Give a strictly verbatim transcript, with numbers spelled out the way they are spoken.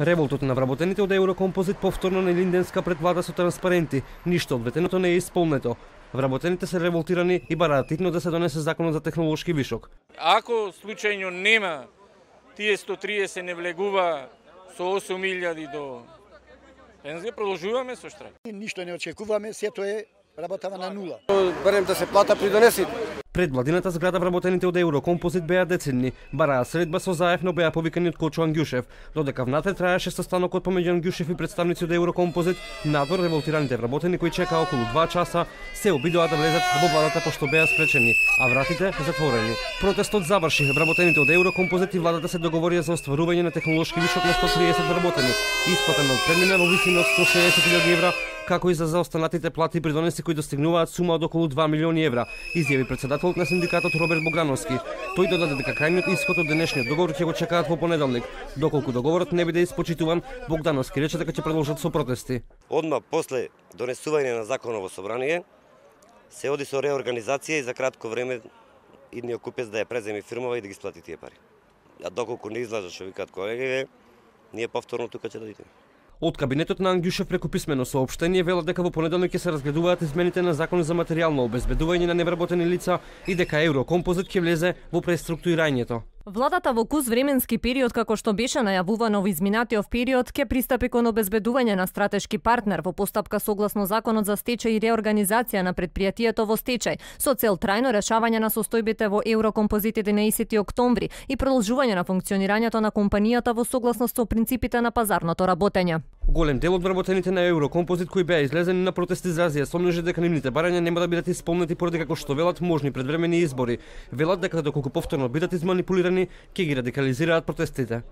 Револтот на вработените од Еврокомпозит повторно на Илинденска пред влада со транспаренти. Ништо од ветеното не е исполнето. Вработените се револтирани и бараат итно да се донесе законот за технолошки вишок. Ако случајно нема тие сто триесет не влегува со осум илјади до пензија, продолжуваме со штрајк. Ништо не очекуваме, сето е работава на нула. Барем да се плата при донесите. Пред владината зграда вработените од Еврокомпозит беа децидни, бараа средба со заев, но беа повикани од Кочо Ангјушев. Додека внатре траеше состанокот помеѓу Ангјушев и представници од Еврокомпозит, надвор револтираните вработени кои чекаа околу два часа се обидоа да влезат во владата пошто беа спречени, а вратите затворени. Протестот заврши, вработените од Еврокомпозит и владата се договорија за остварување на технолошки вишок на сто триесет вработени, исплатен од премина во висина од сто шеесет илјади евра, како и за заостанатите плати при донеси кои достигнуваат сума од околу два милиони евра, изјави председателот на синдикатот Роберт Богдановски. Тој додаде дека крајниот исход од денешниот договор ќе го чекаат во понеделник. Доколку договорот не биде испочитуван, Богдановски рече дека ќе продолжат со протести. Одма после донесување на законот во собрание се оди со реорганизација и за кратко време идниот купец да ја преземи фирмава и да ги сплати тие пари. А доколку не излажа што викаат колегите, ние повторно тука ќе дојдеме. Од кабинетот на Ангјушев преку писмено соопштение велат дека во понеделник ќе се разгледуваат измените на Закон за материјално обезбедување на невработени лица и дека Еврокомпозит ќе влезе во преструктурирањето. Владата во кус временски период, како што беше најавувано во изминатиот период, ќе пристапи кон обезбедување на стратешки партнер во постапка согласно Законот за стечај и реорганизација на предпријатието во стечај, со цел трајно решавање на состојбите во Еврокомпозит единаесети октомври и продолжување на функционирањето на компанијата во согласност со принципите на пазарното работење. Голем дел од вработените на Еврокомпозит кои беа излезени на протести изразија сомнежи дека нивните барања нема да бидат исполнети поради како што велат можни предвремени избори. Велат дека доколку повторно бидат изманипулирани, ќе ги радикализираат протестите.